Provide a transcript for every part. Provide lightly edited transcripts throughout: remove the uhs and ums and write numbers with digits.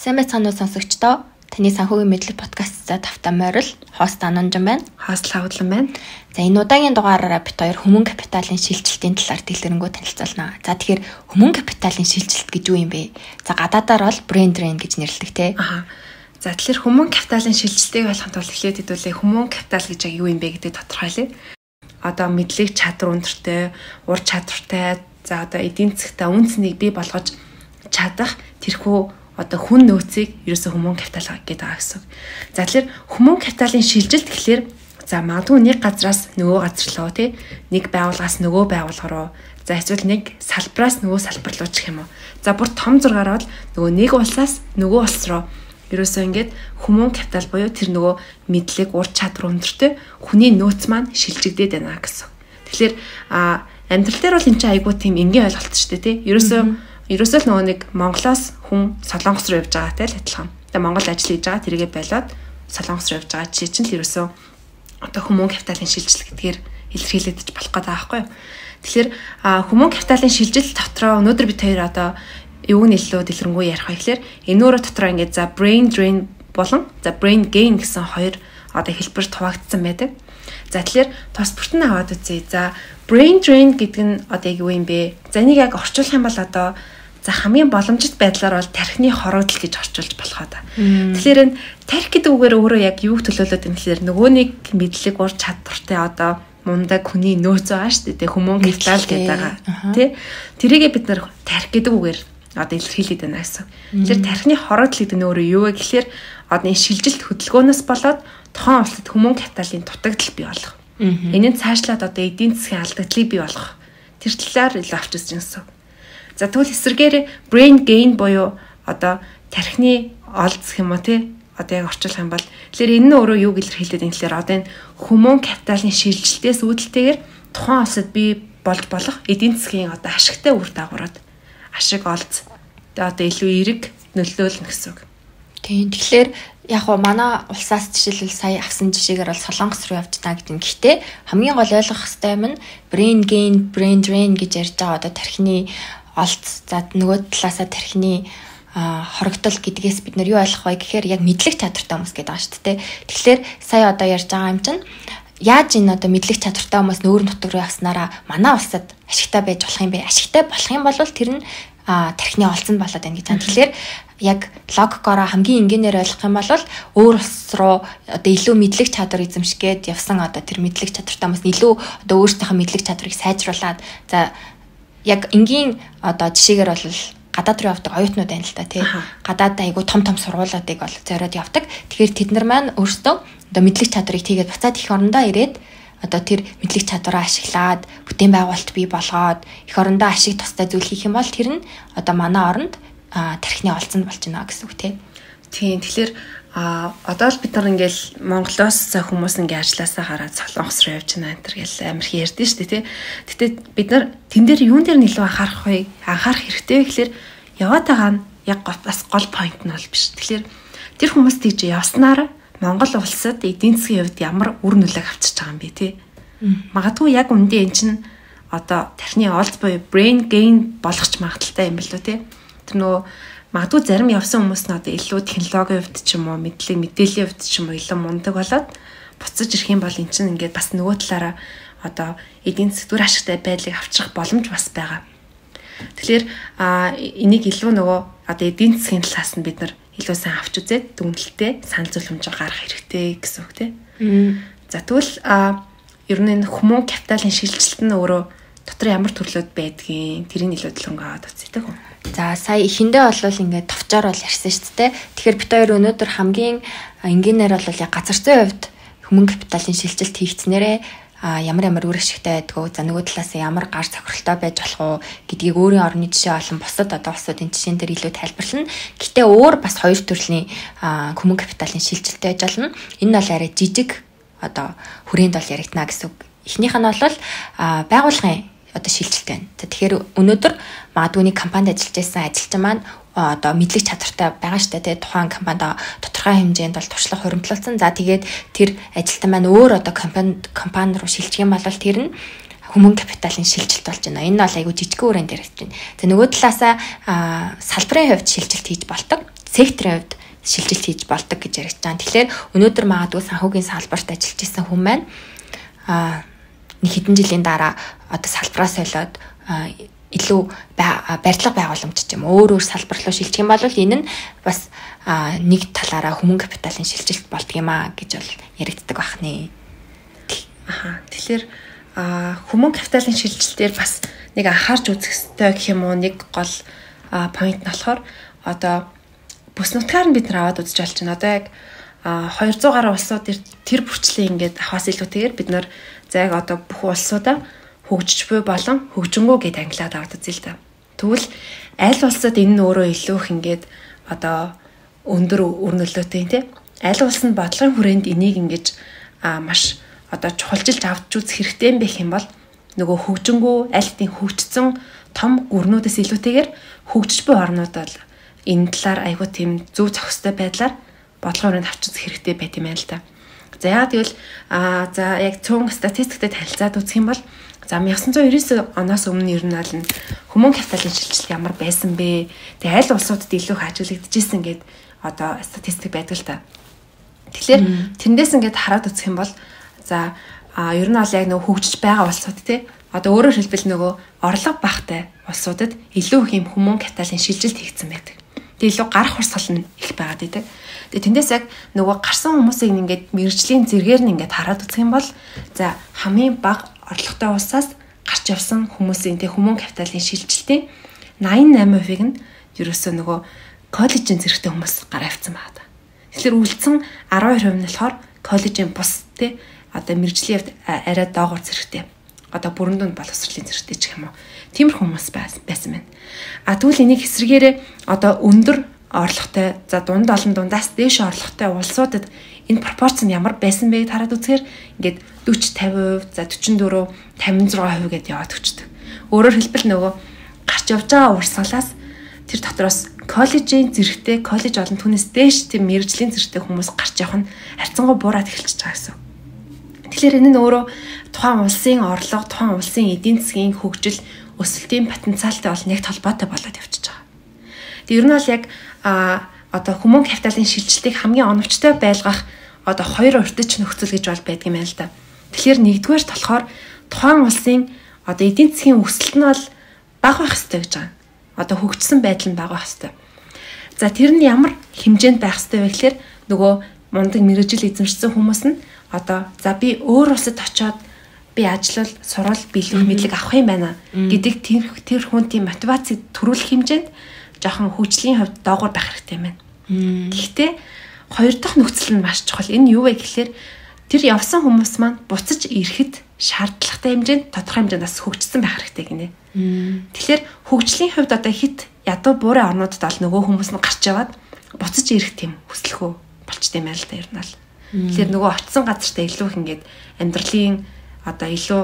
Сайн байцгаана уу сонсогчдоо. Таны санхүүгийн мэдлэг подкаст за тавтаа морил хост Ананжан байна. Хост Лавдлан байна. За энэ удаагийн дугаараараа бит хоёр хүмүүн капиталын шилжилтийн талаар дэлгэрэнгүй танилцуулна. За тэгэхээр хүмүүн капиталын шилжилт гэж юу юм бэ? За гадаадаар бол брэнд drain гэж нэрлэдэг те. За тэгэхээр хүмүүн капиталын шилжилтийг ойлгохын тулд эхлээд хэдүүлээ хүмүүн капитал гэж юу юм бэ гэдэг тодорхойлъя. Одоо мэдлэг чадвар өндөртэй, ур чадвартай, за одоо эдийн засгт үнцнийг бий болгож чадах тэрхүү одоо хүн нөөцийг ерөөсөө хүмүүн капитал гэдэг байгаа гэсэн. За тэгэхээр хүмүүн капиталын шилжилт гэхэлэр за магадгүй нэг газраас нөгөө газар руу тий нэг байгууллагаас нөгөө байгууллага руу за эсвэл нэг салбараас нөгөө салбар руу ч юм уу. За бүр том зургаараа бол нөгөө нэг улсаас нөгөө улс руу ерөөсөө ингээд хүмүүн капитал буюу тэр нөгөө мэдлэг ур чадвар өндөртэй хүний нөөц маань шилжигдээд байна гэсэн. Тэгэхээр амьдрал дээр бол энэ чинь айгүй тийм энгийн ойлголт шүү дээ тий. Ерөөсөө л нөгөө нэг Монголоос хүн Солонгос руу явж байгаатай л адилхан. Тэгээ Монгол ажил хийж байгаа тэргээ болоод Солонгос руу явж байгаа жишээ чинь л ерөөсөө одоо хүмүүн капиталын шилжилт гэдгээр илэрхийлэгдэж болох гэдэг байхгүй юу. Тэгэхээр хүмүүн капиталын шилжилт дотроо өнөөдөр бид хоёр одоо юуг нь илүү дэлгэрэнгүй ярих вэ гэхээр энэ өөрөө дотроо ингээд за brain drain болон за brain gain гэсэн хоёр одоо хэлбэр хуваагдсан байдаг. За тэгэхээр тус бүртэн аваад үзье. За brain drain гэдэг нь одоо юу юм бэ? За энийг яг орчуулах юм бол одоо за хамгийн боломжит байдлаар бол тархины хорогдол гэж орчуулж болох одоо. Тэгэхээр энэ тарих гэдэг үгээр өөрөө яг юуг төлөөлөд юм гэхээр нөгөө нэг мэдлэг ур чадвартай одоо мундаг хүний нөөц байгаа шүү дээ. Хүмүүн капитал гэдэг байгаа. Тэ? Тэрийгээ бид нар тарих гэдэг үгээр одоо илэрхийлээд байна гэсэн. Тэгэхээр тархины хорогдол гэдэг нь өөрөө юу вэ гэхээр одоо энэ шилжилт хөдөлгөөнөөс болоод тохон улсад хүмүүн капиталын дутагдал бий болох. Энийн цаашлаад одоо эдийн засгийн алдагдлыг бий болгох. Тэр талаар илүү авч үзсэн гэсэн. За тэгвэл эсрэгээр brain gain буюу одоо тархины олдс юм уу тий одоо яг орчуулах юм бол тэгэхээр энэ нь өөрөө юу илэрхийлээд юм гэхээр одоо энэ хүмүүн капиталын шилжилтээс үүдэлтэйгээр тухайн улсад бий болж болох эдийн засгийн одоо ашигтай үр дагаврууд ашиг олдс одоо илүү эерэг нөлөөлнө гэсэн үг. Тийм тэгэхээр яг уу манай улсаас жишээлбэл сая авсан жишээгээр бол Солонгос руу явж байгаа гэдэг нь гэхдээ хамгийн гол ойлгох хэрэгтэй юм нь brain gain, brain drain гэж ярьж байгаа одоо тархины олдс за нөгөө талаасаа тархины хорогдол гэдгээс бид нар юу ойлгох вэ гэхээр яг мэдлэг чадвартай хүмүүс гэдэг байгаа шүү дээ. Тэгэхээр сая одоо ярьж байгаа юм чинь яаж энэ одоо мэдлэг чадвартай хүмүүс нүүрэн нутаг руу явснараа манай улсад ашигтай байж болох юм бэ? Ашигтай болох юм бол тэр нь тархины олдсон болоод байна гэж байна. Тэгэхээр яг логикороо хамгийн энгийнээр ойлгох юм бол өөр улс руу одоо илүү мэдлэг чадвар эзэмшгээд явсан одоо тэр мэдлэг чадвартай хүмүүс илүү одоо өөрсдийнхөө мэдлэг чадварыг сайжруулад за яг энгийн одоо жишээгээр бол гадаад руу явдаг оюутнууд байна л та тий. Гадаад айгу том сургуулиудыг бол зориод явдаг. Тэгэхээр тэд нар маань өөрсдөө одоо мэдлэг чадварыг тийгээд буцаад их орондоо ирээд одоо тэр мэдлэг чадвараа ашиглаад бүтээн байгуулалт бий болгоод их орондоо ашиг тустай зүйл хийх юм бол тэр нь одоо манай оронд тархины олдсон болж байна гэсэн үг тий. Тийм тэгэхээр одоо л бид нар ингээл Монголоос хүмүүс ингээ ажилласаа хараад Солонгос руу явж байна энэ гэл амар их ярьдэн шүү дээ тий. Гэтэ бид нар тэн дээр юун дээр нь илүү анхаарах вэ? Анхаарах хэрэгтэй гэхэлэр яваад байгаа нь яг бас гол point нь бол биш. Тэгэхээр тэр хүмүүс тийж явснаар Монгол улсад эдийн засгийн хувьд ямар үр нөлөөг авчиж байгаа юм бэ тий. Магадгүй яг үндэ эн чинь одоо тархины олд буюу brain gain болгоч магадaltaй юм бэл үү тий. Тэр нөгөө магадгүй зарим явсан хүмүүс нь одоо илүү технологийн хувьд ч юм уу мэдээллийн хувьд ч юм уу илүү мундаг болоод буцаж ирэх юм бол эн чинь ингээд бас нөгөө талаараа одоо эдийн засгийн ашигтай байдлыг авчрах боломж бас байгаа. Тэгэхээр энийг илүү нөгөө одоо эдийн засгийн талаас нь бид нар илүү сайн авч үзээд дүнэлтээ санал зөвлөмж гаргах хэрэгтэй гэсэн үг тийм. За тэгвэл ер нь энэ хүмүүн капиталын шилжилт нь өөрөө дотор ямар төрлөд байдгийг тэрийг илүү дэлгэрэнгүй аваад үзье тийм. За сая эхэндээ бол ингээд товчоор бол ярьсан шүү дээ. Тэгэхээр бид хоёр өнөөдөр хамгийн энгийнээр бол яг газар зүйн хувьд хүмүүн капиталын шилжилт хийгдснээрээ ямар үр ашигтай байдгүй за нөгөө талаас ямар гар цохиролтой байж болох уу гэдгийг өөрийн орны жишээ болон бусад одоо улсуудын жишээн дээр илүү тайлбарлана. Гэтэ өөр бас хоёр төрлийн хүмүүн капиталын шилжилт байж болно. Энэ бол арай жижиг одоо хүрээнд бол яригдана гэсэн үг. Эхнийх нь бол байгууллагын одоо шилжилт байна. За тэгэхээр өнөөдөр магадгүй нэг компанид ажиллаж байсан ажилчин маань одоо мэдлэг чадвартай байгаа штэ тий тухайн компанид тодорхой хэмжээнд бол туршлага хуримтлуулсан. За тэгээд тэр ажилтан маань өөр одоо компани руу шилжих юм бол тэр нь хүмүүн капиталын шилжилт болж байна. Энэ бол айгүй жижиг өрөөнд яригдж байна. За нөгөө талаасаа салбарын хувьд шилжилт хийж болдог. секторын хувьд шилжилт хийж болдог гэж яригдж байгаа. Тэгэхээр өнөөдөр магадгүй санхүүгийн салбарт ажиллаж исэн хүн маань нэг хэдэн жилийн дараа одоо салбараа солиод илүү барилга байгууламж ч юм өөр салбар руу шилжих юм бол энэ нь бас нэг талаараа хүмүүн капиталын шилжилт болдго юм а гэж бол яригддаг байна. Тэгэхээр хүмүүн капиталын шилжилтээр бас нэг анхаарч үзэх ёстой гэх юм уу нэг гол point нь болохоор одоо бүс нутгаар нь бид нар аваад үзэж болж байна. Одоо яг 200 гаруй улсууд тэр бүрчлэн ингээд авахаас илүүтэйгээр бид нар за яг одоо бүх улсуудаа хөгжиж буй болон хөгжингүү гэд ангилаад аваад үзье л да. Тэгвэл аль улсад энэ нь өөрөө илүү их ингээд одоо өндөр үр нөлөөтэй тий. Аль улс нь бодлогын хүрээнд энийг ингэж маш одоо чухалчилж авч үзэх хэрэгтэй юм байх юм бол нөгөө хөгжингүү аль хэдийн хөгжсөн том гүрнүүдээс илүүтэйгээр хөгжиж буй орнууд бол энэ талаар айгүй тийм зөв зохистой байдлаар бодлогын хүрээнд авч үзэх хэрэгтэй байт юм байна л да. За яа тэгвэл за яг цөөн статистиктэй танилцаад үзэх юм бол за 1999 оноос өмнө ер нь аль хүмүүн капиталын шилжилт ямар байсан бэ? Тэгээ аль улсуудад илүү их ажиглагдчихсэн гэд одоо статистик байдаг л та. Тэгэхээр тэндээс ингээд хараад үзэх юм бол за ер нь бол яг нөгөө хөгжиж байгаа улсууд тий. Одоо өөрөөр хэлбэл нөгөө орлого багтай улсуудад илүү их юм хүмүүн капиталын шилжилт хийгдсэн байдаг. Тэгээ илүү гарах урсгал нь их байгаад байдаг. Тэгээ тэндээс яг нөгөө гарсан хүмүүсийг ингээд мэрэгжлийн зэрэгээр нь ингээд хараад үзэх юм бол за хамгийн бага орлоготой улсаас гарч явсан хүмүүсийн тэг хүмүүн капиталын шилжилтийн 88%-ийг нь ерөөсөө нөгөө коллежийн зэрэгтэй хүмүүс гараа авсан байна. Тэгэхээр үлдсэн 12% нь болохоор коллежийн бус тий одоо мэрэгжлийн хувьд арай доогуур зэрэгтэй. Одоо бүрэн дүнд боловсролын зэрэгтэй ч юм уу. Тиймэрхүү хүмүүс байсан байна. Тэгвэл энийг эсрэгээрээ одоо өндөр орлоготой за дунд олон дундаас дээш орлоготой улсуудад энэ пропорц нь ямар байсан бэ гэд хараад үзэхээр ингээд 40 50%, за 44, 56% гэдээ яваад өчтдөг. Өөрөөр хэлбэл нөгөө гарч явж байгаа урсгалаас тэр дотроос коллежийн зэрэгтэй, коллеж олон түүнээс дээш тийм мэрэгжлийн зэрэгтэй хүмүүс гарч явах нь харьцангуй буураад эхэлчихэж байгаа гэсэн. Тэгэхээр энэ нь өөрөө тухайн улсын орлого, тухайн улсын эдийн засгийн хөгжил, өсөлтийн потенциалтай бол нэг толгойтой болоод явчихж байгаа. Тэг ер нь бол яг одоо хүмүүн капиталын шилжилтийг хамгийн оновчтой байлгах одоо хоёр урьдчилан нөхцөл гэж бол байдаг юм байна л да. Тэгэхээр нэгдүгээр болохоор тухайн улсын одоо эдийн засгийн өсөлт нь бол бага байх ёстой гэж байгаа. Одоо хөгжсөн байдал нь бага байх ёстой. За тэр нь ямар хэмжээнд байх ёстой вэ гэхээр нөгөө мундаг мэрэгжил эзэмшсэн хүмүүс нь одоо за би өөр улсад очиод би ажиллал, сурал, бэлэг мэдлэг авах юм байна гэдэг тэр хүнийн мотивацийг төрүүлэх хэмжээнд жоохон хөгжлийн хувьд доогуур байх хэрэгтэй юм байна. Гэхдээ хоёр дахь нөхцөл нь маш чухал. Энэ юу вэ гэхээр тэр явсан хүмүүс маань буцаж ирэхэд шаардлагатай хэмжээнд тодорхой хэмжээнд бас хөгжсөн байх хэрэгтэй гинэ. Тэгэхээр хөгжлийн хувьд одоо хит ядуу буурын орнуудад бол нөгөө хүмүүс нь гарч яваад буцаж ирэх тийм хүсэлхөө болчтой юм байна л да ер нь л. Тэгэхээр нөгөө очисон газартаа илүү их ингээд амьдралын одоо илүү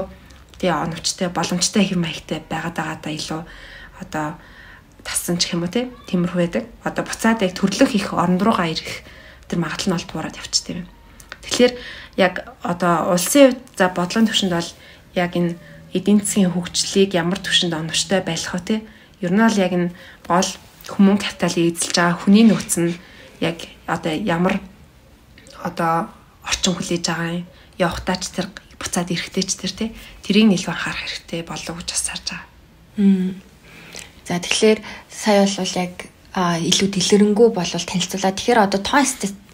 тий оновчтой, боломжтой хэм маягтай байгаад байгаадаа илүү одоо тассан ч юм уу тиймэрхүү байдаг. Одоо буцаад яг төрлөх их орн руугаа ирэх тэр магадлал нь олд буураад явчихдаг юм. Тэгэхээр яг одоо улсын хувьд за бодлогын түвшинд бол яг энэ эдийн засгийн хөгжлийг ямар түвшинд оновчтой байлгах вэ ер нь бол яг энэ гол хүмүүн капиталыг эзэлж байгаа хүний нөөц нь яг одоо ямар одоо орчин хүлээж байгаа юм явахтаа ч тэр буцаад ирэхтэй ч тэр тэрийг нэлээд анхаарах хэрэгтэй болов гэж бас харж байгаа. За тэгэхээр сая бол яг илүү дэлгэрэнгүй болвол танилцуулаад тэгэхээр одоо тоон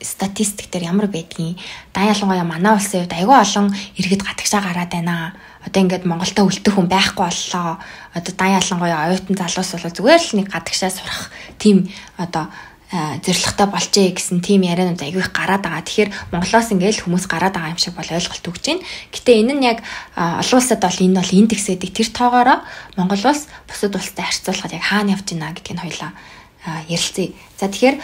статистик дээр ямар байдгийг дан ялангуяа манай улсын хувьд аюул олон иргэд гадагшаа гараад байна. Одоо ингээд Монголда үлдэх хүн байхгүй боллоо. Одоо дан ялангуяа оюутан залуус бол зүгээр л нэг гадагшаа сурах тийм одоо зэрлэгтэй болжээ гэсэн тийм ярианууд аягүй их гараад байгаа. Тэгэхээр Монголоос ингээл хүмүүс гараад байгаа юм шиг бол ойлголт өгч байна. Гэтэ энэ нь яг олон улсад бол энэ бол индекс гэдэг тэр тоогоороо Монгол улс бусад улстай харьцуулахад яг хаана явж байна гэдгийг хоёлаа ярилцъя. За тэгэхээр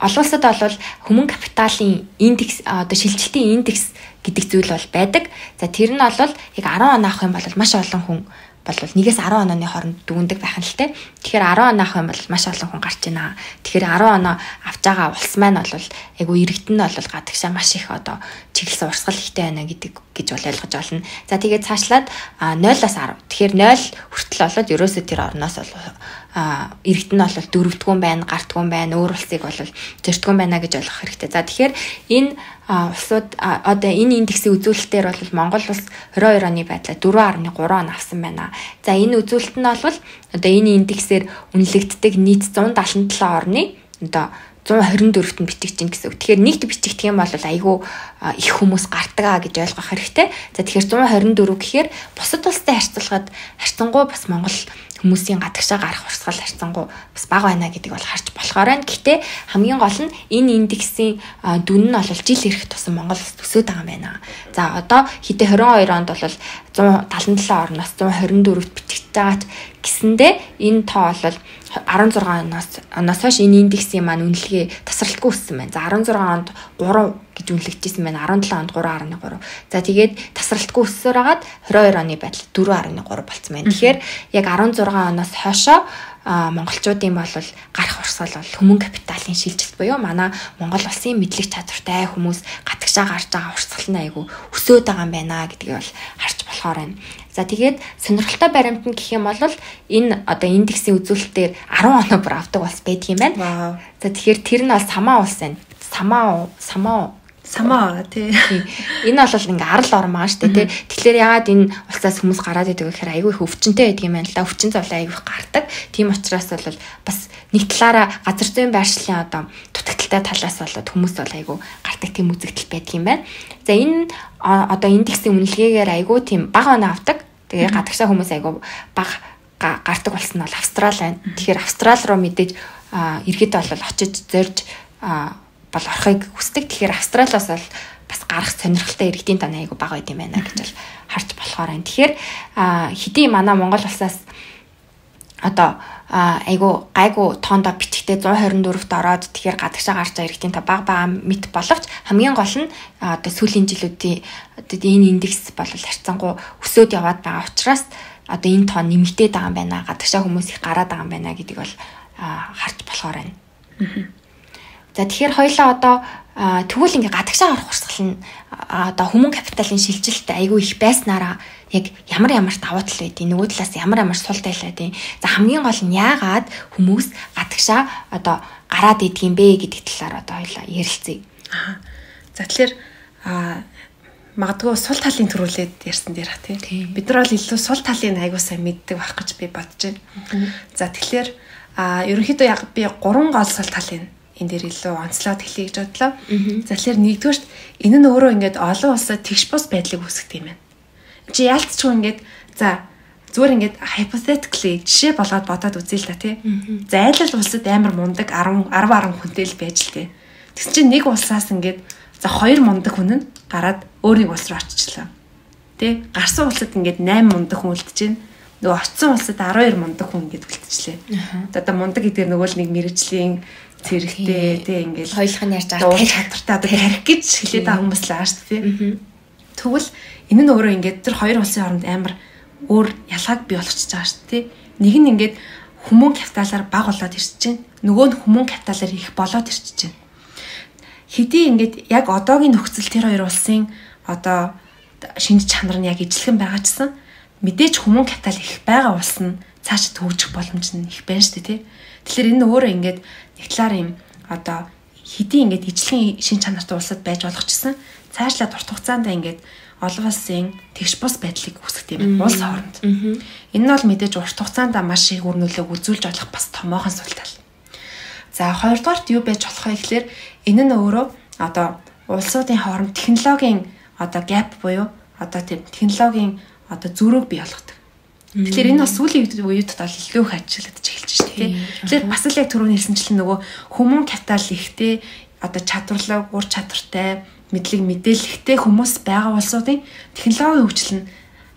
олон улсад бол хүмүүн капиталын индекс одоо шилжилтийн индекс гэдэг зүйл бол байдаг. За тэр нь бол яг 10 он авах юм бол маш олон хүн бол 1-10 онооны хооронд дүгндэг байх нь л те. Тэгэхээр 10 он авах юм бол маш олон хүн гарч байна. Тэгэхээр 10 оноо авч байгаа улс маань бол айгу иргэд нь бол гадагшаа маш их одоо чиглэсэн урсгал ихтэй байна гэж бол ойлгож байна. За тэгээд цаашлаад 0-10. Тэгэхээр 0 хүртэл болоод ерөөсөө тэр орноос бол иргэд нь бол дөрөвдгүүн байна, гартгүүн байна, өөр улсыг бол зөртгүүн байна гэж ойлгох хэрэгтэй. За тэгэхээр энэ улсууд одоо энэ индексийн үзүүлэлтээр бол Монгол улс 22 оны байдлаар 4.3 он авсан байна. За энэ үзүүлэлт нь бол одоо энэ индексээр үнэлэгддэг нийт 177 орны одоо 124-т нь бичиж чинь гэсэн үг. Тэгэхээр нэгт бичигдэх юм бол айгүй их хүмүүс гардаг гэж ойлгох хэрэгтэй. За тэгэхээр 124 гэхээр бусад улстай харьцангуй бас Монгол хүмүүсийн гадагшаа гарах урсгал харьцангуй бас бага байна гэдэг бол харж болохоор байна. Гэхдээ хамгийн гол нь энэ индексийн дүн нь бол жил ирэх тусам Монгол улс төсөөд байгаа юм байна. За одоо хэдэ 22 онд бол 177 орноос 124-т бичигдэж байгаа ч гэсэндээ энэ тоо бол 16 оноос хойш энэ индексийн маань үнэлгээ тасралтгүй өссөн байна. За 16 онд 3 гэж үнэлэгдэжсэн байна. 17 онд 3.3. За тэгээд тасралтгүй өссөөр хагаад 22 оны байдал 4.3 болцсон байна. Тэгэхээр яг 16 оноос хойшоо монголчуудын бол гарах урсгал бол хүмүүн капиталын шилжилт буюу манай Монгол улсын мэдлэг чадвартай хүмүүс гадагшаа гарч байгаа урсгал нь айгүй өсөөд байгаа юм байна гэдгийг бол харж болохоор байна. За тэгээд сонирхолтой баримт нь гэх юм бол энэ одоо индексийн үзүүлэлтээр 10 оноо бүр авдаг улс байдаг юм байна. За тэгэхээр тэр нь бол Самаа улс байна. Самаа тий. Энэ бол ингээ арал ормаа шүү дээ тий. Тэгэхээр яагаад энэ улсаас хүмүүс гараад идэг гэхээр айгүй их өвчнөд байдаг юм байна л да. Өвчин зовлон айгүй их гардаг. Тийм учраас бол бас нэг талаараа газар зүйн байршлын одоо дутагдaltaй талаас болоод хүмүүс бол айгүй гардаг тийм үзэгдэл байдаг юм байна. За энэ одоо индексийн үнэлгээгээр айгүй тийм бага оноо авдаг. Тэгээ гадагшаа хүмүүс айгүй бага гардаг болсон нь бол Австрали байна. Тэгэхээр Австрали руу мэдээж иргэд бол очиж зорж бол орохыг хүсдэг. Тэгэхээр Австралиас бол бас гарах сонирхолтой иргэдийн тоо айгүй бага байд юм байна гэж бол харж болохоор байна. Тэгэхээр хэдий манай Монгол улсаас одоо айгүй тоондоо бичгтээ 124-т ороод тэгэхээр гадагшаа гарч байгаа иргэдийн тоо бага мэт боловч хамгийн гол нь одоо сүүлийн жилүүдийн одоо энэ индекс бол харьцангуй өсөөд яваад байгаа учраас одоо энэ тоо нэмэгдээд байгаа юм байна. Гадагшаа хүмүүс их гараад байгаа юм байна гэдгийг бол харж болохоор байна. За тэгэхээр хоёлаа одоо тэгвэл ингээ гадагшаа орох урсгал нь одоо хүмүүн капиталын шилжилт айгүй их байснараа яг ямар давуу тал байдیں۔ Нөгөө талаас ямар сул тал байдیں۔ За хамгийн гол нь яагаад хүмүүс гадагшаа одоо гараад идэх юм бэ гэдэг талаар одоо хоёлаа ярилцъя. За тэгэхээр магадгүй сул талын төрүүлээд ярьсан дээрх тийм. Бид нар бол илүү сул талын айгүй сайн мэддэг байх гэж би бодож байна. За тэгэхээр ерөнхийдөө яг би 3 гол сул талын энэ дээр илүү онцлоод хэлье гэж бодлоо. За тэгэхээр нэгдүгээрт энэ нь өөрөө ингээд олон улсад тэгш бус байдлыг үүсгэх юм байна. Чи яалтчгүй ингээд за зүгээр ингээд hypothetically жишээ болгоод бодоод үзье л да тий. За айлал улсад амар мундаг 10 хүнтэй л байж л тий. Тэгс чинь нэг улсаас ингээд за 2 мундаг хүн нь гараад өөрийн улс руу очичлаа. Тий. Гарсан улсад ингээд 8 мундаг хүн үлдэж байна. Нөгөө очсон улсад 12 мундаг хүн ингээд үлдчихлээ. Одоо мундаг гэдэг нөгөө л нэг мэрэгжлийн зэрэгтэй тий ингээд хоёулах нь ярьж байгаа чадвартай одоо тарих гэж хэлээд байгаа хүмүүс л аа шүү тий. Тэгвэл энэ нь өөрөө ингээд тэр хоёр улсын хооронд амар өөр ялгааг бий болгочихж байгаа шүү тий. Нэг нь ингээд хүмүүн капиталаар бага болоод ирчихэж байна. Нөгөө нь хүмүүн капиталаар их болоод ирчихэж байна. Хэдий ингээд яг одоогийн нөхцөл тэр хоёр улсын одоо шинж чанар нь яг ижилхэн байгаа чсан мэдээж хүмүүн капитал их байгаа улс нь цааш төвжих боломж нь их байна шүү тий. Тэгэхээр энэ өөрөө ингээд нэг талаар юм одоо хэдий ингээд ижилхэн шинж чанартай улсад байж болох чсан цаашлаад урт хугацаанд ингээд олон улсын тэгш бус байдлыг үүсгэх юм улс хооронд. Энэ нь бол мэдээж урт хугацаанд маш их үр нөлөөг үзүүлж болох бас томоохон сул тал. За хоёрдугаарт юу байж болох вэ гэхээр энэ нь өөрөө одоо улсуудын хооронд технологийн одоо gap буюу одоо тийм технологийн одоо зөрүүг бий болгодог. Тэгэхээр энэ бас сүүлийн үед бол илүү их ажиллагдаж эхэлж байна шүү дээ. Тэгэхээр бас л яг түрүүний хэлсэнчлэн нөгөө хүмүүн капитал ихтэй одоо чадварлаг, ур чадвартай, мэдлэг мэдээлэлтэй хүмүүс байгаа улсуудын технологийн хөгжил нь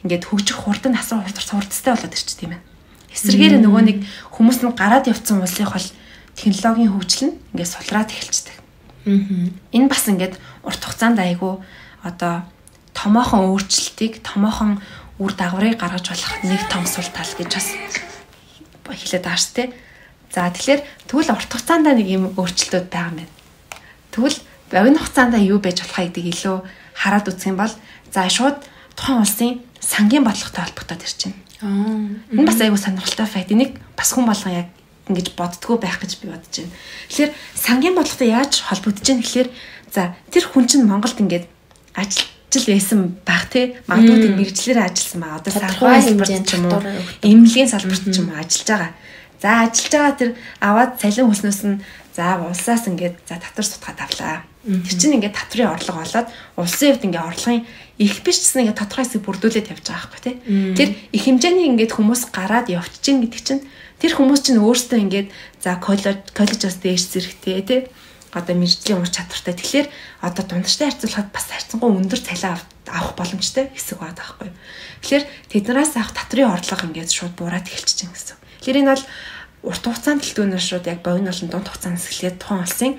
ингээд хөгжих хурд нь асар хурдтай болоод ирчих тийм байна. Эсвэргээр нөгөө нэг хүмүүс нь гараад явцсан улсынх бол технологийн хөгжил нь ингээд сулраад эхэлждэг. Энэ бас ингээд урт хугацаанд айгүй одоо томоохон өөрчлөлтийг, томоохон үр дагаврыг гаргаж болох нэг том сул тал гэж бас хэлээд байгаа шүү дээ. За тэгэхээр тэгвэл урт хугацаанд нэг юм өөрчлөлтүүд байгаа юм байна. Тэгвэл богино хугацаанд юу байж болох гэдгийг илүү хараад үзэх юм бол за шууд тухайн улсын сангийн бодлоготой холбогдоод ирж байна. Энэ бас айгүй сонирхолтой факт. Энийг бас хүн болгон яг ингэж боддгоо байх гэж би бодож байна. Тэгэхээр сангийн бодлоготой яаж холбогдож байна гэхээр за тэр хүн чинь Монголд ингээд ажиллаж байсан баг тий магадгүй тэр мэрэгчлэрээ ажилласан байгаа. Одоо санхүү салбарт ч юм уу, эмнэлгийн салбарт ч юм уу ажиллаж байгаа. За ажиллаж байгаа тэр аваад цалин хөлснөөс нь за улсаас ингээд за татвар сутгаад авлаа. Тэр чинь ингээд татврын орлого болоод улсын хувьд ингээд орлогын их биш гэсэн ингээд тодорхой хэсэг бүрдүүлээд явж байгаа байхгүй тий. Тэр их хэмжээний ингээд хүмүүс гараад явчих чинь гэдэг чинь тэр хүмүүс чинь өөрсдөө ингээд за коллежоос дээш зэрэгтэй тий одоо мэржлийн ур чадвартай. Тэгэхээр одоо дундчтай харьцуулахад бас харьцангуй өндөр цалин авах боломжтой хэсэг байдаг байхгүй. Тэгэхээр тэднээс авах татврын орлого ингээд шууд буураад эхэлчихэж байгаа гэсэн. Тэгэхээр энэ бол урт хугацаанд төлтөөнөөс шууд яг богино болон дунд хугацаанд эхлээд тухайн улсын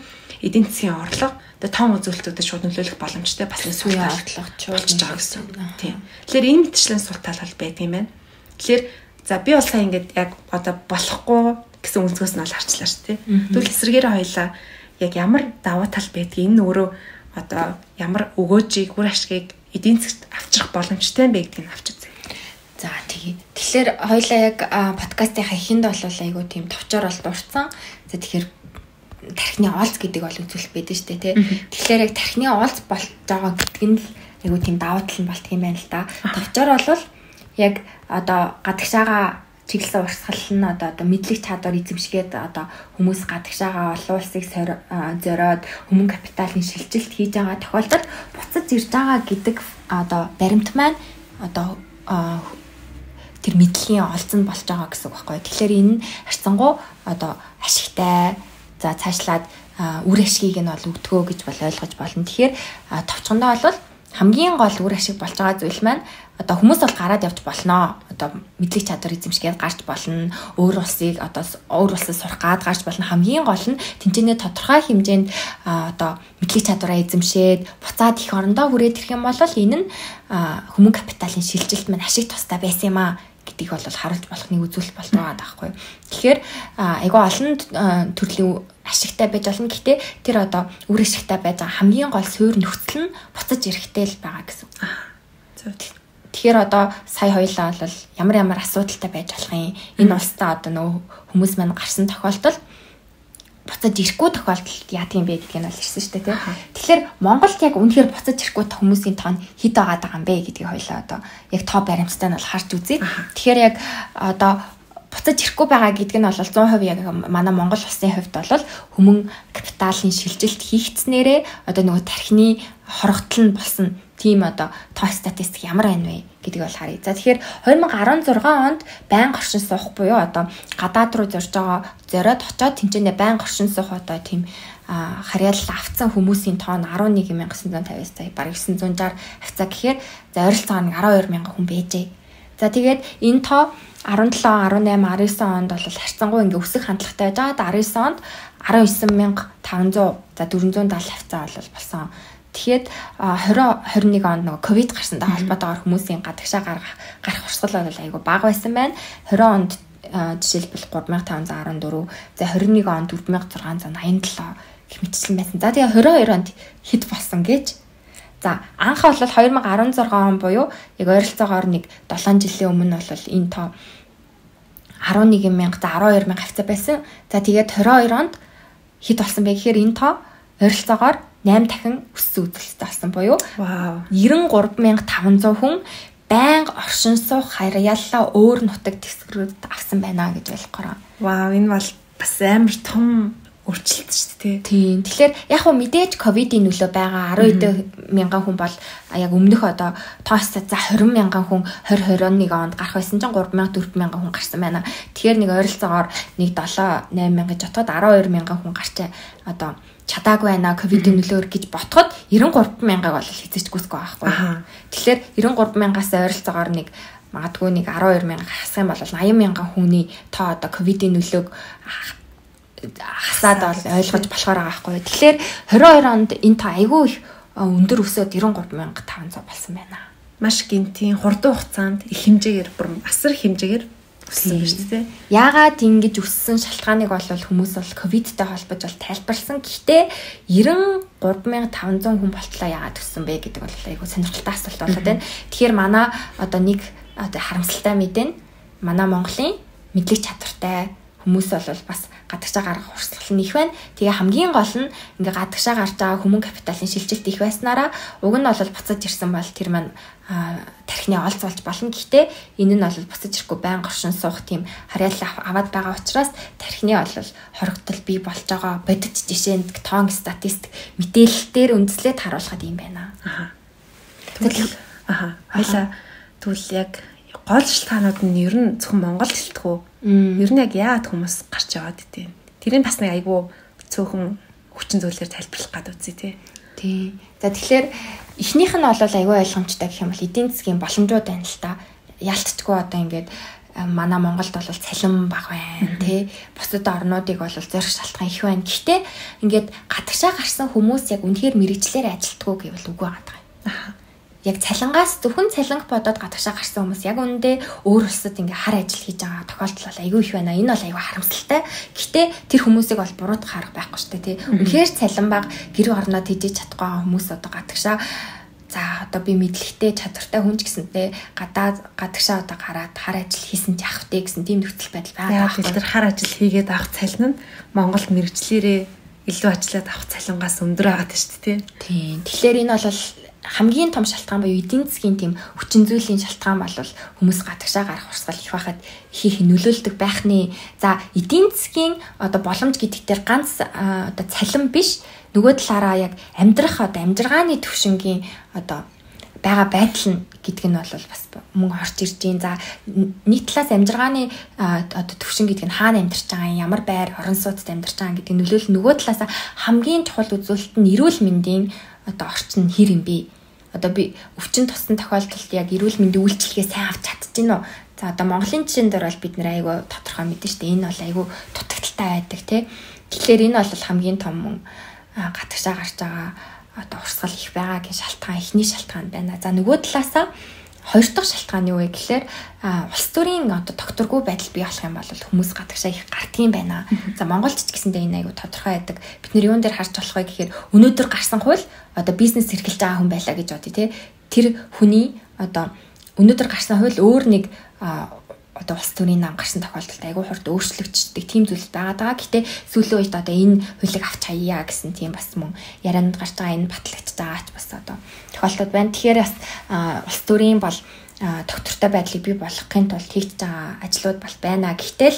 эдийн засгийн орлого одоо том үзүүлэлтүүдэд шууд нөлөөлөх боломжтой бас нэг сүүлийн орлого болж байгаа гэсэн. Тийм. Тэгэхээр энэ мэтчлийн сул тал бол байдаг юм байна. Тэгэхээр за би бол сая ингээд яг одоо болохгүй гэсэн өнцгөөс нь бол харчлаа шүү дээ. Тэгвэл эсрэгээрээ хоёлаа яг ямар давуу тал байдгийг энэ өөрөө одоо ямар өгөөжийг үр ашгийг эдийн засгт авчрах боломжтой юм бэ гэдгийг авч үзье. За тэгээ. Тэгэхээр хоёлаа яг подкастынхаа эхэнд бол айгуу тийм товчоор бол дурдсан. За тэгэхээр тархины оолц гэдэг бол үзүүлэлт байдаг шүү дээ тий. Тэгэхээр яг тархины оолц болж байгаа гэдэг нь л айгуу тийм давуу тал нь болтго юм байна л да. Товчоор бол яг одоо гадагшаага чиглэсэн урсгал нь одоо мэдлэг чадвар эзэмшгээд одоо хүмүүс гадагшаага олон улсыг зориод хүмүүн капиталын шилжилт хийж байгаа тохиолдолд буцаж ирж байгаа гэдэг одоо баримт маань одоо тэр мэдлэгийн олзон болж байгаа гэсэн үг байхгүй. Тэгэхээр энэ харьцангуй одоо ашигтай за цаашлаад үр ашгийг нь бол өгдгөө гэж бол ойлгож болно. Тэгэхээр товчхондоо бол хамгийн гол үр ашиг болж байгаа зүйл маань одоо хүмүүс бол гараад явж болно. Одоо мэдлэг чадвар эзэмшгээд гарч болно. Өөр улсыг одоо өөр улсад сурах гад гарч болно. Хамгийн гол нь тэнцэнэ тодорхой хэмжээнд одоо мэдлэг чадвараа эзэмшээд буцаад их орондоо хүрээд ирэх юм бол энэ нь хүмүүн капиталын шилжилт маань ашиг тустай байсан юм аа гэдгийг бол харуулж болох нэг үзүүлэлт болж байгаа байхгүй. Тэгэхээр айгүй олон төрлийн ашигтай байж болно. Гэхдээ тэр одоо үр ашигтай байж байгаа хамгийн гол суурь нөхцөл нь буцаж ирэхтэй л байгаа гэсэн. Тэгэхээр одоо сая хоёлаа бол ямар асуудалтай байж болох юм. Энэ улстай одоо нөгөө хүмүүс маань гарсан тохиолдолд буцаж ирэхгүй тохиолдолд яадаг юм бэ гэдгийг нь бол ирсэн шүү дээ тий. Тэгэхээр Монголд яг үнэхээр буцаж ирэхгүй хүмүүсийн тоо нь хэд байгаа юм бэ гэдгийг хоёлаа одоо яг тоо баримттай нь бол харж үзье. Тэгэхээр яг одоо буцаж ирэхгүй байгаа гэдэг нь бол 100% яг манай Монгол улсын хувьд бол хүмүүн капиталын шилжилт хийгдснээрээ одоо нөгөө тархины хорогдол нь болсон тийм одоо тоо статистик ямар байна вэ гэдгийг бол харъя. За тэгэхээр 2016 онд байнга оршин суух буюу одоо гадаад руу зорж байгаа зориод очоод тэнцэнэ байнга оршин суух одоо тийм харьяалал авцсан хүмүүсийн тоо нь 11,950 сая бараг 960 хавцаа гэхээр за ойролцоогоор 12,000 хүн байжээ. За тэгээд энэ тоо 17, 18, 19 онд бол харьцангуй ингээ өсөх хандлагатай байж байгаа. 19 онд 19,500 за 470 хавцаа бол болсон. Тэгэхэд 2021 онд нөгөө ковид гарсантай холбоотойгоор хүмүүсийн гадагшаа гарах урсгал бол айгүй бага байсан байна. 20 онд жишээлбэл 3,514, за 21 онд 4,687 гэх мэтчлэн байсан. За тэгээ 22 онд хэд болсон гэж. За анх бол 2016 он буюу яг ойролцоогоор нэг 7 жилийн өмнө бол энэ тоо 11,000 за 12,000 хавцаа байсан. За тэгээд 22 онд хэд болсон бэ гэхээр энэ тоо ойролцоогоор 8 дахин өссөн үзүүлэлттэй болсон буюу 93,500 хүн байнга оршин суух харьяаллаа өөр нутаг дэвсгэрүүд авсан байна гэж ойлгохоор. Вау, энэ бол бас амар том өөрчлөлт шүү дээ. Тийм. Тэгэхээр яг хөө мэдээж ковидын нөлөө байгаа 12,000 хүн бол яг өмнөх одоо тоостой за 20,000 хүн 2021 онд гарах байсан чинь 3,000 4,000 хүн гарсан байна. Тэгэхээр нэг ойролцоогоор нэг 7-8,000 гэж отоход 12,000 хүн гарчаа одоо чадаагүй байна ковидын нөлөөр гэж ботход 93,000-ыг бол хэзээч гүйсгүй байхгүй. Тэгэхээр 93,000-аас ойролцоогоор нэг магадгүй нэг 12,000 хасах юм бол 80,000 хүний тоо одоо ковидын нөлөөг хасаад бол ойлгож болохоор байгаа байхгүй. Тэгэхээр 22 онд энэ тоо айгүй их өндөр өсөөд 93,500 болсон байна. Маш гинтийн хурдан хугацаанд их хэмжээгээр бүр асар хэмжээгээр өссөн гэж тийм. Яагаад ингэж өссөн шалтгааныг бол хүмүүс бол ковидтэй холбож бол тайлбарласан. Гэхдээ 93,500 хүн болтлоо яагаад өссөн бэ гэдэг бол айгүй сонирхолтой асуулт болоод байна. Тэгэхээр манай одоо нэг одоо харамсалтай мэдээ манай Монголын мэдлэг чадвартай хүмүүс бол бас гадагшаа гарах урсгал нь их байна. Тэгээ хамгийн гол нь ингээ гадагшаа гарч байгаа хүмүүн капиталын шилжилт их байснараа уг нь бол буцаж ирсэн бол тэр маань тархины олз болж болно. Гэхдээ энэ нь бол буцаж ирэхгүй байн горшин суух тийм харьяалал аваад байгаа учраас тархины бол хоригдол бий болж байгаа бодит жишээнд тоон статистик мэдээлэлээр үндэслээд харуулхад юм байна. Хоёлаа тэгвэл яг гол шалтгаанууд нь ер нь зөвхөн Монголд хэлтгүү. Ер нь яг яагаад хүмүүс гарч яваад идэв. Тэрийг бас нэг айгүй цөөхөн хүчин зүйлээр тайлбарлах гэдэг үзье тий. За тэгэхээр эхнийх нь бол айгүй ойлгомжтой гэх юм бол эдийн засгийн боломжууд байна л та. Ялцчгүй одоо ингээд манай Монголд бол цалин бага байна тий. Бусад орнуудыг бол зорих шалтгаан их байна. Гэхдээ ингээд гадагшаа гарсан хүмүүс яг үнэхээр мэрэгчлэр ажилтгуу гэвэл үгүй байгаа юм. Яг цалингаас зөвхөн цалинг бодоод гадагшаа гарсан хүмүүс яг үүндээ өөр улсад ингээ хар ажил хийж байгаа тохиолдол бол айгүй их байна. Энэ бол айгүй харамсалтай. Гэхдээ тэр хүмүүсийг бол буруутгах арга байхгүй шүү дээ тий. Үнэхээр цалин бага гэр орноо тэжээж чадахгүй байгаа хүмүүс одоо гадагшаа за одоо би мэдлэгтэй чадвартай хүн ч гэсэнтэй гадагшаа одоо гараад хар ажил хийсэн ч явах тий гэсэн тийм нөхцөл байдал байгаа. Яг тэр хар ажил хийгээд авах цалин нь Монголд мэрэгчлэрээ илүү ажиллаад авах цалингаас өндөр байгаа шүү дээ тий. Тэгэхээр энэ бол хамгийн том шалтгаан буюу эдийн засгийн тийм хүчин зүйлийн шалтгаан бол хүмүүс гадагшаа гарах урсгал их байхад их нөлөөлдөг байхны за эдийн засгийн одоо боломж гэдэг дээр ганц одоо цалин биш нөгөө талаараа яг амьдрах одоо амжиргааны төвшингийн одоо байгаа байдал нь гэдэг нь бол бас мөн орж ирж байна. За нийт талаас амжиргааны одоо төвшин гэдэг нь хаана амьдарч байгаа ямар байр орон сууцд амьдарч байгаа гэдэг нөлөөлөл нөгөө талаас хамгийн чухал үзүүлэлт нь эрүүл мэндийн одоо орчин хэр юм бэ? Одоо би өвчин туссан тохиолдолд яг эрүүл мэндийн үйлчилгээ сайн авч чадчихэв нөө. За одоо Монголын жишээн дээр бол бид нэр айгүй тодорхой мэдэн штэ. Энэ бол айгүй дутагдaltaй байдаг тий. Тэгэхээр энэ бол хамгийн том гадагшаа гарч байгаа одоо урсгал их байгаагийн шалтгаан эхний шалтгаан байна. За нөгөө талаасаа хоёр дахь шалтгаан юу вэ гэхээр улс төрийн одоо докторгүй байдал бий болох юм бол хүмүүс гадагшаа их гардгийн байна. За Монголд ч гэсэндээ энэ айгу тодорхой байдаг. Бид нэр юун дээр харж болох вэ гэхээр өнөөдөр гарсан хууль одоо бизнес эрхэлж байгаа хүн байлаа гэж бодъё тий. Тэр хүний одоо өнөөдөр гарсан хууль өөр нэг одоо улс төрийн нам гарсан тохиолдолд айгу хурд өөрчлөгддөг тийм зүйл байгаа даа. Гэтэ сүүлийн үед одоо энэ хуулийг авч хаяа гэсэн тийм бас мөн ярианд гарч байгаа энэ батлагдж байгаач бас одоо тохиолдод байна. Тэгэхээр бас улс төрийн бол доктортой байдлыг бий болгохын тулд хийж байгаа ажлууд бол байна. Гэтэл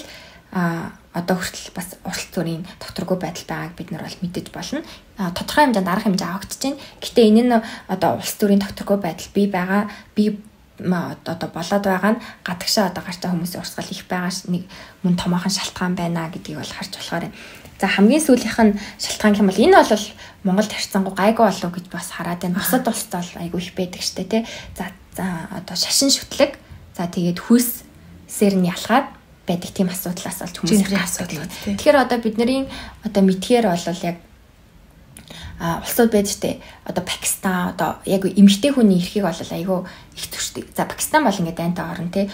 одоо хүртэл бас улс төрийн докторгүй байдал байгааг бид нар бол мэдэж болно. Тодорхой хэмжээнд арга хэмжээ авагдаж байна. Гэтэ энэ нь одоо улс төрийн докторгүй байдал бий байгаа одоо болоод байгаа нь гадагшаа одоо гарч байгаа хүмүүсийн урсгал их байгаа нэг мөн томоохон шалтгаан байна гэдгийг бол харж болохоор юм. За хамгийн сүүлийнх нь шалтгаан юм бол энэ бол Монголд харьцангуй гайгүй болов гэж бас хараад байна. Бусад улсад бол айгүй их байдаг штэ тий. За одоо шашин шүтлэг за тэгээд хүйсээр нь ялгаад байдаг тийм асуудлаас болж хүмүүс асуудал. Тэгэхээр одоо бидний одоо мэдхээр бол яг улсууд байж тээ одоо Пакистан одоо яг эмэгтэй хүний эрхийг бол айгүй их зөрчдөг. За Пакистан бол ингээд дайнтай орн тий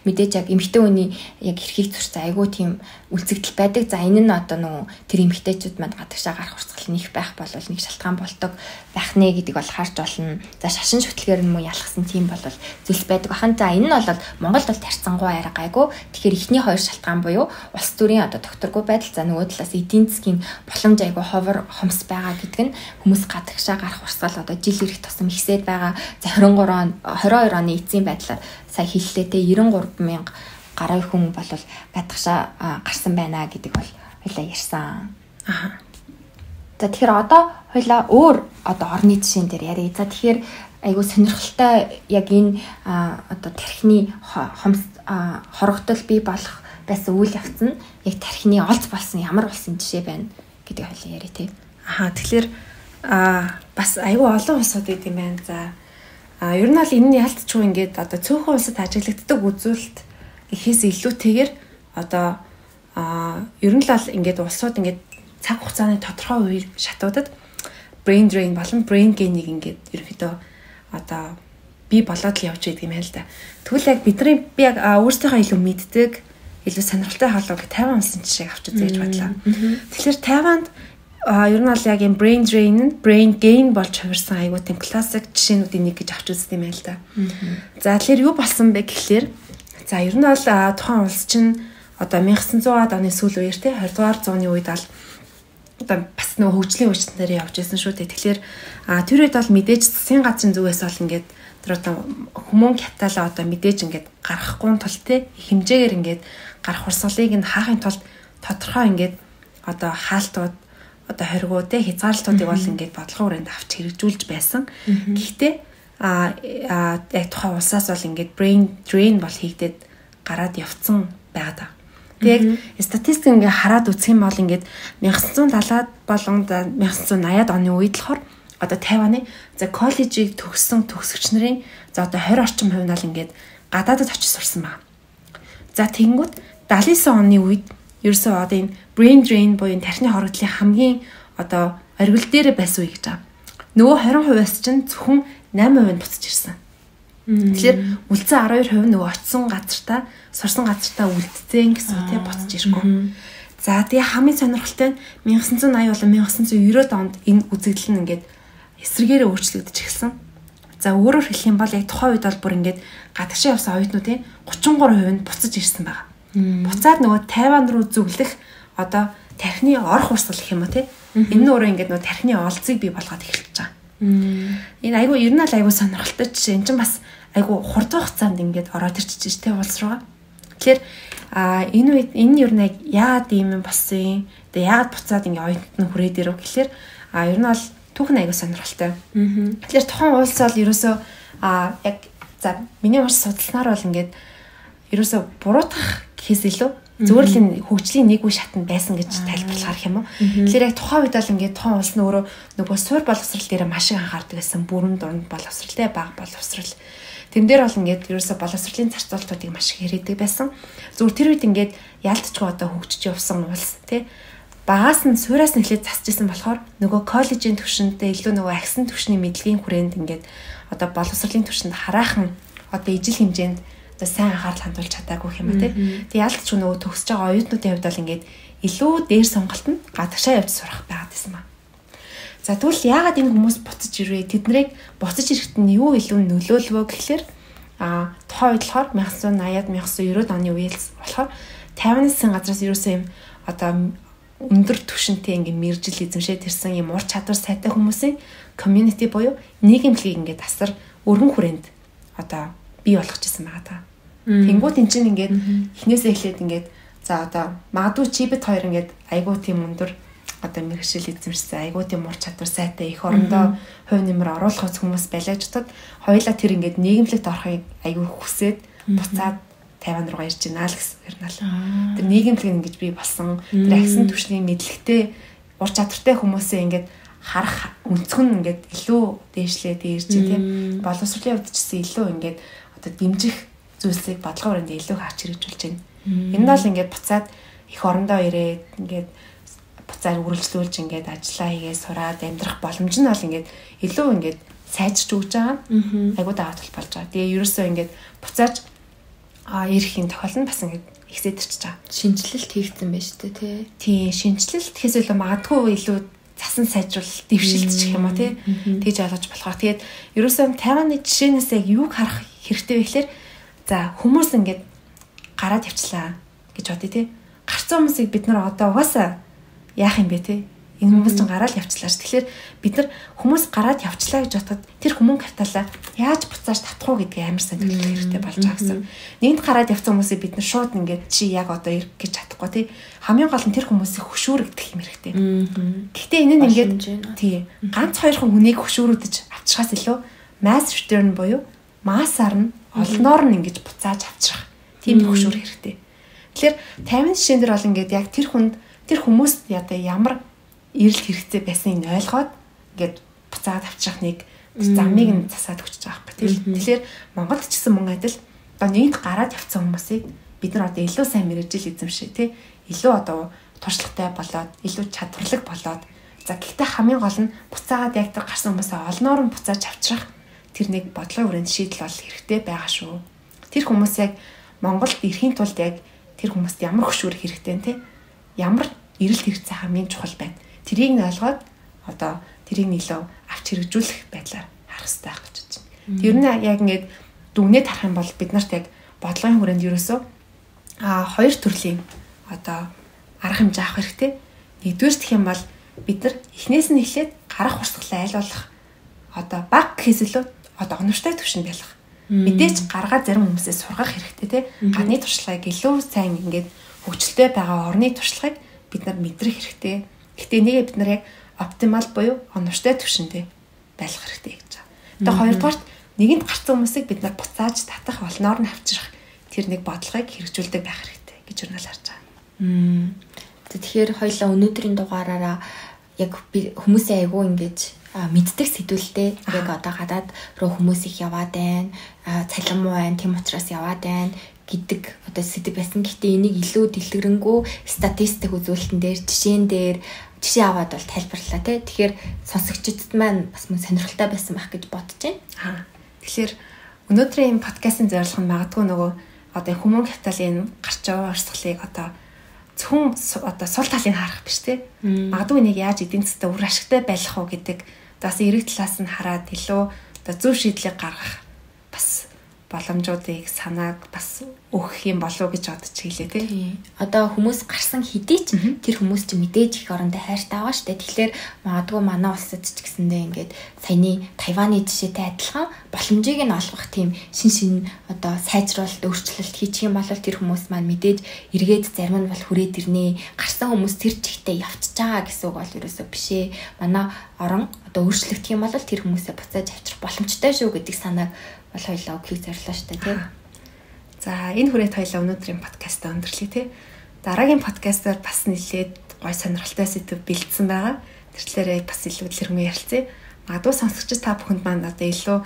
мэдээж яг эмэгтэй хүний яг эрхийг зөрчсөн айгүй тийм үлцэгдэл байдаг. За энэ нь одоо нөгөө тэр эмэгтэйчүүд манд гадагшаа гарах урсгал нэг байх бол нэг шалтгаан болдог байх нэ гэдэг бол харж болно. За шашин шүтлгээр нь муу ялгсан тийм бол зүйлс байдаг бахан. За энэ нь бол Монголд бол тарцсангуй арга гайгүй. Тэгэхээр эхний хоёр шалтгаан буюу улс төрийн одоо докторгүй байдал за нөгөө талаас эдийн засгийн боломж айгүй ховор хомс байгаа гэдэг нь хүмүүс гадагшаа гарах урсгал одоо жил ирэх тусам ихсээд байгаа. За 22 оны эцсийн байдлаар сая хэллээ те 93,000 гаруй хүн бол гадагшаа гарсан байна гэдэг бол хоёлаа ярьсан. За тэгэхээр одоо хоёлаа өөр одоо орны жишээн дээр ярив. За тэгэхээр айгүй сонирхолтой яг энэ одоо тархины хорогдол бий болох байсан үйл явц нь яг тархины олз болсон ямар болсон жишээ байна гэдэг хоёлаа ярив те. Тэгэхээр бас айгүй олон улсууд идэм байна. За ер нь бол энэ ялтчгүй ингээд одоо цөөхөн улсад ажиглагддаг үзүүлэлт ихээс илүүтэйгээр одоо ер нь л ингээд улсууд ингээд цаг хугацааны тодорхой үеийн шатуудад brain drain болон brain gain-ийг ингээд ерөөхдөө одоо бий болоод л явж байдаг юм байна л да. Тэгвэл яг бидний би яг өөрсдийнхөө илүү мэддэг илүү сонирхолтой хаалгыг Тайван улсын жишээг авч үзье гэж бодлоо. Тэгэхээр Тайванд ер нь бол яг юм brain drain нь brain gain болж хувирсан айгуу тийм классик жишээнүүдийн нэг гэж авч үзсэн юм байна л да. За тэгэхээр юу болсон бэ гэхлээр За ер нь бол тухайн улс чинь одоо 1900-аад оны сүүл үеэр те 20-р зууны үед бол одоо бас нөгөө хөгжлийн үеийнээр явж байсан шүү дээ. Тэгэхээр тэр үед бол мэдээж засгийн газрын зүгээс бол ингээд тэр одоо хүмүүн капиталаа одоо мэдээж ингээд гаргахгүй тул те хэмжээгээр ингээд гарах урсгалыг нь хаахын тулд тодорхой ингээд одоо хаалтууд одоо хоригоо те хязгаарлалтуудыг бол ингээд бодлогын хүрээнд авч хэрэгжүүлж байсан. Гэхдээ яг тухайн улсаас бол ингээд brain drain бол хийгдээд гараад явцсан байгаа. Тэгээд статистик ингээ хараад үзэх юм бол ингээд 1970-аад болон 1980-аад оны үед болохоор одоо Тайваны за коллежийг төгссөн төгсөгч нарын за одоо 20 орчим хувь нь бол ингээд гадаадд очиж сурсан байна. За тэгэнгүүт 79 оны үед ерөөсөө одоо энэ brain drain буюу тархины хорогдлын хамгийн одоо оргил дээр байсан үе гэж байгаа. Нөгөө 20%-аас чинь зөвхөн 8% нь буцаж ирсэн. Тэгэхээр үлдсэн 12% нөгөө очисон газартаа сурсан газартаа үлдсэн гэсэн тий буцаж ирэхгүй. За тэгээ хамгийн сонирхолтой нь 1980 болон 1990-ад онд энэ үзэгдэл нь ингээд эсрэгээрээ өөрчлөгдөж эхэлсэн. За өөрөөр хэлэх юм бол яг тухайн үед бол бүр ингээд гадагшаа явсан оюутнуудын 33% нь буцаж ирсэн байгаа. Буцаад нөгөө Тайван руу зүглэх одоо тархины орох урсгал гэх юм уу тий. Энэ нь өөрөө ингээд нөгөө тархины олзыг бий болгоод эхэлж байгаа. Энэ айгу ер нь л айгу сонирхолтой жишээ. Энд чинь бас айгу хурдан хугацаанд ингээд ороод ирчихэж тий улс руугаа. Тэгэхээр энэ үед энэ ер нь яагаад ийм юм болсон юм? Тэгээ яагаад буцаад ингээд оюутнууд нь хүрээд ирв гэхэлэр ер нь бол түүхэн айгу сонирхолтой. Тэгэхээр тухайн улс бол ерөөсөө яг за миний маш судалснаар бол ингээд ерөөсөө буруутгах гэхээс илүү зүгээр л энэ хөгжлийн нэг үе шатнд байсан гэж тайлбарлахаар юм уу. Тэгэхээр яг тухайн үед бол ингээд тухайн улс нь өөрөө нөгөө суур боловсрал дээр маш их анхаардаг байсан. Бүрэн дунд боловсралтай баг боловсрал. Тэн дээр бол ингээд ерөөсө боловсролын зарцуулалтуудыг маш их хэрэгдэг байсан. Зүгээр тэр үед ингээд яалтчгүй одоо хөгжиж явсан улс тий. Багаас нь суураас нь эхлээд засч исэн болохоор нөгөө коллежийн түвшинтэй илүү нөгөө агсан түвшний мэдлэгийн хүрээнд ингээд одоо боловсролын түвшинд хараахан одоо ижил хэмжээнд одоо сайн анхаарал хандуулж чадаагүй юм а тий. Тэг яалтчгүй нөгөө төгсөж байгаа оюутнуудын хувьд бол ингээд илүү дээр сонголтод гадагшаа явж сурах байгаад байсан ба. За тэгвэл яагаад энэ хүмүүс буцаж ирвэ? Тэднийг буцаж ирэхэд нь юу илүү нөлөөлвөө гэхлээр тухайн үед болохоор 1980-аад 1990-ад оны үеэлс болохоор Тайваны засгийн газраас ерөөсөө юм одоо өндөр түвшинтэй ингээ мэржил эзэмшээд ирсэн юм ур чадвар сайтай хүмүүсийн community буюу нийгэмлэгийг ингээ асар өргөн хүрээнд одоо бий болгочихсон байгаа та. Тэнгүүд эн чинь ингээд эхнээсээ эхлээд ингээд за одоо магадгүй чи бит хоёр ингээд айгуу тийм өндөр одоо мэрэгшил эзэмшсэн айгуу тийм ур чадвар сайтай их орондоо хувь нэмэр оруулах хүмүүс байлаажтад хоёулаа тэр ингээд нийгэмлэгт орохыг айгуу хүсээд буцаад Тайван руугаа ирж байна л гэсэн юм аа. Тэр нийгэмлэг ингэж бий болсон. Тэр агсан түвшний мэдлэгтэй ур чадвартай хүмүүсээ ингээд харах өнцгөн ингээд илүү дээшлээд ирж тийм боловсролын хувьд ч гэсэн илүү ингээд одоо дэмжих зүйлсийг бодлогын хүрээнд илүү харж хэрэгжүүлж байна. Энэ нь бол ингээд буцаад их орондоо ирээд ингээд буцаад үргэлжлүүлж ингээд ажиллаа хийгээ сураад амьдрах боломж нь бол ингээд илүү ингээд сайжирч өгч байгаа. Айгуу даавал болж байгаа. Тэгээ ерөөсөө ингээд буцааж ирэхийн тохиолдол нь бас ингээд ихсэдэрч байгаа. Шинжилэлт хийгдсэн байж тээ тий. Тий, шинжилэлт гэхээс илүү магадгүй илүү засан сайжруулалт дэвшилтчих юм а тий. Тэгж ойлгож болохоор. Тэгээд ерөөсөө Тайваны жишээнээс яг юуг харах хэрэгтэй вэ гэхээр за хүмүүс ингээд гараад явчлаа гэж бодъё тий. Гарцсан хүмүүсийг бид нар одоо угаасаа яах юм бэ тий. Энэ хүмүүс ч гараад явчлаа ш. Тэгэхээр бид нар хүмүүс гараад явчлаа гэж бодоход тэр хүмүүн капиталаа яаж буцааж татах уу гэдгийг амар сайн төлөвлөх хэрэгтэй болж байгаа гэсэн. Нэгд гараад явсан хүмүүсийг бид нар шууд ингээд чи яг одоо ирэх гэж чадахгүй тий. Хамгийн гол нь тэр хүмүүсийг хөшөөрөгдөх юм хэрэгтэй. Гэхдээ энэ нь ингээд тий ганц хоёрхан хүнийг хөшөөрөдөж авчихаас илүү mass return буюу массаар нь олноор нь ингэж буцааж авчрах тийм хөшөөр хэрэгтэй. Тэгэхээр 50 жишээн дээр бол ингээд яг тэр хүнд тэр хүмүүст ядаа ямар эрэлт хэрэгцээ байсныг ойлгоод ингээд буцаад авчрах нэг замыг нь засаад өгч байгаа байхгүй. Тэгэхээр Монголд ч гэсэн мөн адил одоо нэгд гараад явцсан хүмүүсийг бид нар одоо илүү сайн мэрэгжил эзэмшээ тий. Илүү одоо туршлагатай болоод илүү чадварлаг болоод за гэхдээ хамгийн гол нь буцаагаад яг тэр гарсан хүмүүсээ олноор нь буцааж авчрах тэр нэг бодлогын хүрээнд шийдэл бол хэрэгтэй байгаа шүү. Тэр хүмүүс яг Монголд ирэхийн тулд яг тэр хүмүүст ямар хөшүүрэх хэрэгтэй тий. Ямар эрэлт хэрэгцээ хамгийн чухал байна. Тэрийг нь ойлгоод одоо тэрийг илүү авч хэрэгжүүлэх байдлаар харах хэрэгтэй гэж бодож байна. Тэр нь яг ингээд дүгнээд харах юм бол бид нарт яг бодлогын хүрээнд ерөөсөө хоёр төрлийн одоо арга хэмжээ авах хэрэгтэй. Нэгдүгээр гэх юм бол бид нар эхнээс нь эхлээд гарах урсгалаа аль болох одоо бага гэхээс илүү одоо оновчтой түвшинд байлгах. Мэдээж гаргаа зарим хүмүүсээс сургах хэрэгтэй тий. Ганы туршлагыг илүү сайн ингээд хөгжилтэй байгаа орны туршлагыг бид нар мэдрэх хэрэгтэй. Гэхдээ нэгэ бид нар яг оптимал буюу оновчтой түвшиндээ байлгах хэрэгтэй гэж байна. Тэгээ хоёрдугаарт нэгэнд гарсан хүмүүсийг бид нар буцааж татах болноор нь авчрах тэр нэг бодлогыг хэрэгжүүлдэг байх хэрэгтэй гэж өрнөл харж байгаа. Тэгэхээр хоёлаа өнөөдрийн дугаараараа яг хүмүүсийн айгуу ингэж мэддэг сэдвэлтэй яг одоо гадаад руу хүмүүс их яваад байна, цалин муу байна, тийм учраас яваад байна гэдэг одоо сэдв байсан. Гэхдээ энийг илүү дэлгэрэнгүй статистик үзүүлэлтэн дээр жишээ аваад бол тайлбарлалаа тий. Тэгэхээр сонсогчдод маань бас мөн сонирхолтой байсан байх гэж бодож байна. Тэгэхээр өнөөдрийн энэ подкастын зорилго нь магадгүй нөгөө одоо хүмүүн капиталын гарч байгаа урсгалыг одоо зөвхөн одоо сул талыг харах биш тий. Магадгүй нэг яаж эдийн засгт үр ашигтай байх уу гэдэг бас эрэг талаас нь хараад илүү одоо зөв шийдлийг гаргах бас боломжуудыг санааг бас өгөх юм болов уу гэж бодож хэлээ тий. Одоо хүмүүс гарсан хэдий ч тэр хүмүүс ч мэдээж их орондоо хайртай байгаа шүү дээ. Тэгэхээр магадгүй манай улсад ч гэсэндээ ингээд саяны Тайваны жишээтэй адилхан боломжийг нь олгох тийм шин одоо сайжруулалт өөрчлөлт хийчих юм бол тэр хүмүүс маань мэдээж эргээд зарим нь бол хүрээд ирнэ. Гарсан хүмүүс тэр чигтээ явчихж байгаа гэсэн үг бол ерөөсөө биш ээ. Манай орон одоо өөрчлөгдөх юм бол тэр хүмүүсээ буцааж авчрах боломжтой шүү гэдэг санааг бол хоёлаа өгөхийг зорилоо шүү дээ тий. За энэ хүрээд хоёлаа өнөөдрийн подкастаа өндөрлөе тий. Дараагийн подкастаар бас нэлээд гой сонирхолтой сэдв бэлдсэн байгаа. Тэрчлээрээ бас илүү дэлгэрэнгүй ярилцъя. Магадгүй сонсогчид та бүхэнд маань одоо илүү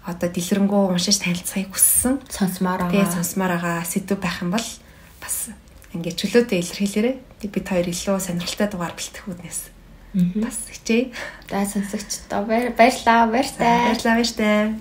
одоо дэлгэрэнгүй уншиж танилцахыг хүссэн сонсомоор байгаа сэдв байх юм бол бас ингээд чөлөөтэй илэрхийлээрэй. Бид хоёр илүү сонирхолтой дугаар бэлтгэх үүднээс бас хичээе. За сонсогчдоо баярлалаа. Баярлалаа.